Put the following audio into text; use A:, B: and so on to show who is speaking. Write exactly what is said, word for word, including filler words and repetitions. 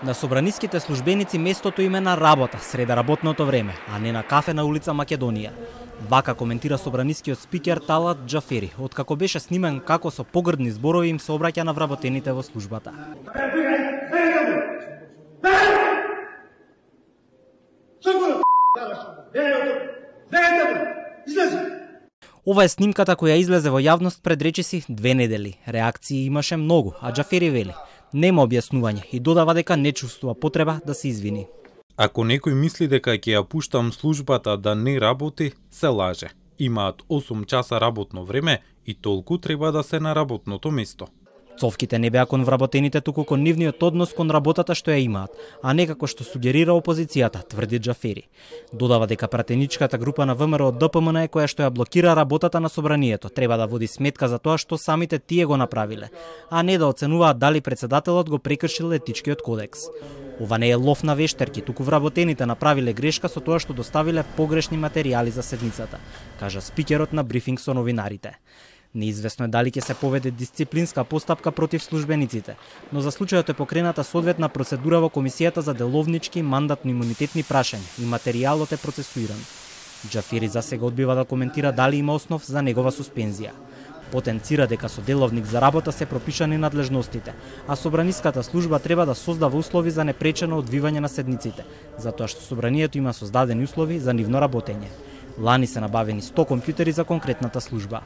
A: На собраниските службеници местото им е на работа среде работното време, а не на кафе на улица Македонија. Вака коментира собранискиот спикер Талат Џафери, откако беше снимен како со погрдни зборови им се обраќа на вработените во службата. Ова е снимката која излезе во јавност пред речиси две недели. Реакции имаше многу, а Џафери вели: нема објаснување и додава дека не чувствува потреба да се извини.
B: Ако некој мисли дека ќе ја пуштам службата да не работи, се лаже. Имаат осум часа работно време и толку треба да се на работното место.
A: Цовките не беа кон вработените, туку кон нивниот однос кон работата што ја имаат, а не како што сугерира опозицијата, тврди Џафери. Додава дека пратеничката група на ВМРО Д П М Н која што ја блокира работата на собранието треба да води сметка за тоа што самите тие го направиле, а не да оценуваат дали председателот го прекршил етичкиот кодекс. Ова не е лов на вештерки, туку вработените направиле грешка со тоа што доставиле погрешни материјали за седницата, кажа спикерот на брифинг со новинарите. Неизвестно е дали ќе се поведе дисциплинска постапка против службениците, но за случајот е покрената соодветна процедура во Комисијата за деловнички мандатно-имунитетни прашања и материјалот е процесуиран. Џафери засега одбива да коментира дали има основ за негова суспензија. Потенцира дека со деловник за работа се пропишани надлежностите, а собраниската служба треба да создава услови за непречено одвивање на седниците, затоа што собранието има создадени услови за нивно работење. Лани се набавени сто компјутери за конкретната служба.